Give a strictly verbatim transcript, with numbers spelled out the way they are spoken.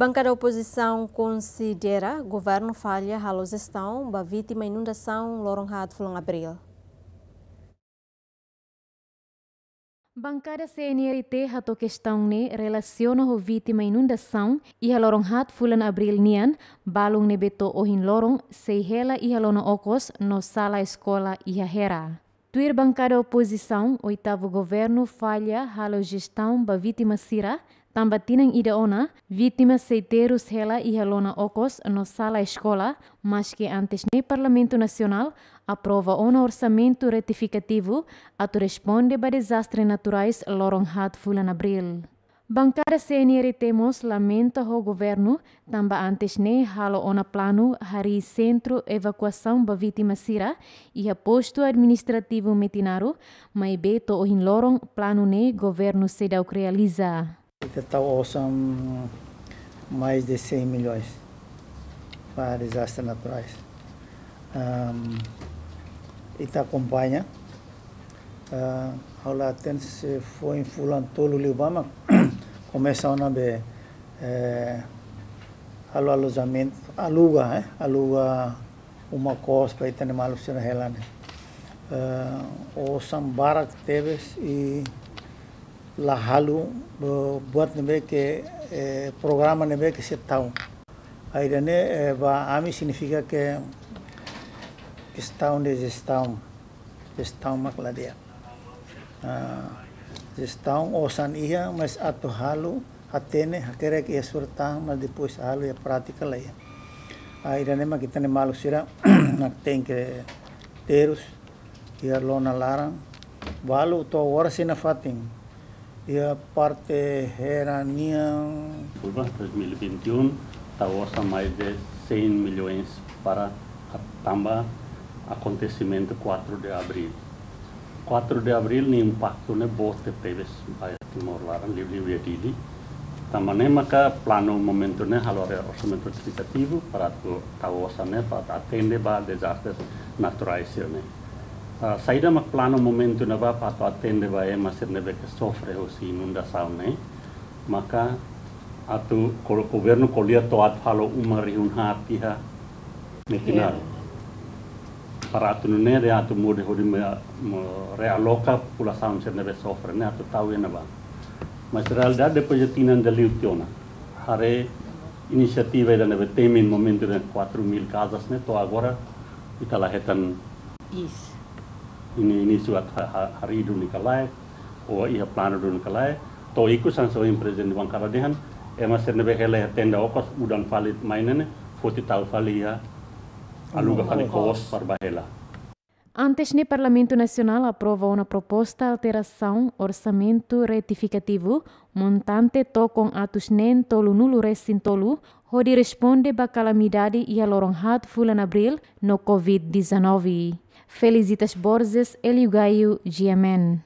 Bankada opozisaun konsidera governu falla halo jestaun ba vítima inundasaun loron haat fulan Abríl. Bankada C N R T hato'o kestaun ne'e relasiona ho vítima inundasaun iha loron haat fulan Abríl nian, balun ne'ebé to'o ohin loron sei hela iha lona okos no sala eskola iha Hera. Tuir bankada opozisaun, oitavu governu falla halo jestaun ba vítima sira, tanba tinan ida ona, vítima sei terus hela iha lona okos no sala eskola, maske antes ne'e Parlamentu Nasionál aprova ona orsamentu retifikativu atu responde ba dezastre naturais loron haat fulan Abríl. Bankada C N R T mós lamenta ho governu, tanba antes ne'e halo ona planu harii sentru evakuasaun ba vítima sira iha postu administrativu Metinaro, maibé to'o ohin loron planu ne'e governu seidauk realiza. Ita tau osan mais de cem milhões para desastres naturais. Ahm, ita akompaña, ah, ha'u la hatene se foin fulan tolu liubá mak komesa ona be, eh, halo alojamentu, aluga, eh, aluga uma kos ba ita-nia maluk sira hela ne'e. Eh, osan barak tebes i la halo, eh, buat ne'ebé ke, eh, programa ne'ebé ke sei tau. Ida-ne'e, eh, ba ami signifika ke kestaun de jestaun, jestaun mak la di'ak. Ah, jestaun osan iha, mas atu halo, hatene, hakerek iha surat tan, mas depois halo iha prátika la iha. Ah, ida-ne'e mak ita-nia maluk sira mak tenke terus iha lona laran, balu to'o agora sei nafatin iha parte Hera nian. Por ba dois mil e vinte e um, tau osan mais de cem milhões para a tanba akontesimentu quatro de abril. Quatro de abril nia impaktu ne'e boot tebes ba Timor laran, liuliu iha Dili. Tanba ne'e maka planu momentu ne'e halo haree orsamentu retifikativu para atu tau osan ne'e para atu atende ba dezastres naturais sira-ne'e. Ah, saida mak planu momentu ne'ebá para atu atende ba ema sira ne'ebé ke sofre husi inundasaun ne'e, maka atu ko-, governu ko'alia to'o atu halo uma rihun haat iha Metinaro. Para atu nune'e dehan atu muda hodi me-, me-, realoka populasaun sira ne'ebé sofre ne'e atu tau iha ne'ebá. Mas realidade depois de tinan ida liu tiha ona, haree inisiativa ida ne'ebé temi momentu de quatro mil casas ne'e to'o agora ita la hetan. Is. Ini, ini surat ha-, ha-, harii duni ka lae, ou iha planu duni ka lae, to'o ikus hanesan ohin prezidente bankada dehan, ema sira ne'ebé hela iha tenda okos, udan fali mai ne'e, foti tau fali iha, aluga fali kos para bá hela. Antes ne'e Parlamentu Nasionál aprova ona proposta alterasaun orsamentu retifikativu, montante tokon atus neen tolunulu resin tolu, hodi responde ba kalamidade iha loron haat fulan Abríl no covid dezanove. Felicitas Borges, Elio Gaio, G M N.